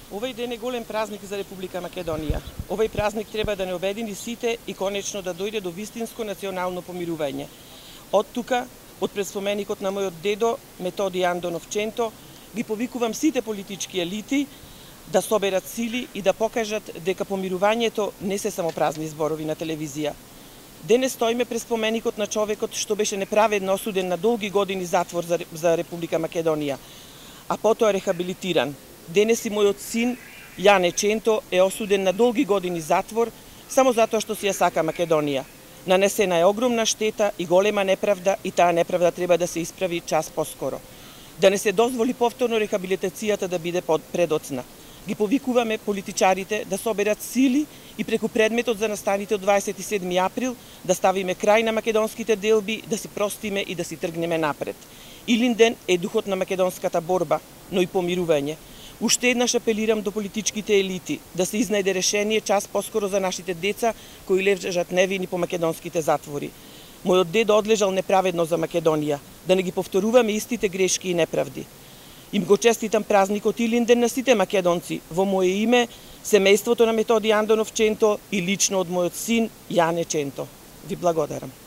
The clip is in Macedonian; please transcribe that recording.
Овој ден е голем празник за Република Македонија. Овој празник треба да не обедини сите и конечно да дојде до вистинско национално помирување. Од тука, од предспоменикот на мојот дедо Методи Андонов Ченто, ги повикувам сите политички елити да соберат сили и да покажат дека помирувањето не се само празни зборови на телевизија. Денес стоиме пред споменикот на човекот што беше неправедно осуден на долги години затвор за Република Македонија, а потоа рехабилитиран. Денес и мојот син, Јане Ченто, е осуден на долги години затвор само затоа што си ја сака Македонија. Нанесена е огромна штета и голема неправда и таа неправда треба да се исправи час поскоро. Да не се дозволи повторно рехабилитацијата да биде предоцна. Ги повикуваме политичарите да соберат сили и преку предметот за настаните од 27 април да ставиме крај на македонските делби, да си простиме и да си тргнеме напред. Илинден е духот на македонската борба, но и помирување. Уште еднаш апелирам до политичките елити да се изнајде решение час поскоро за нашите деца кои лежат невини по македонските затвори. Мојот дедо одлежал неправедно за Македонија, да не ги повторуваме истите грешки и неправди. Им го честитам празникот Илинден на сите македонци во моје име, семејството на Методи Андонов Ченто и лично од мојот син Јане Ченто. Ви благодарам.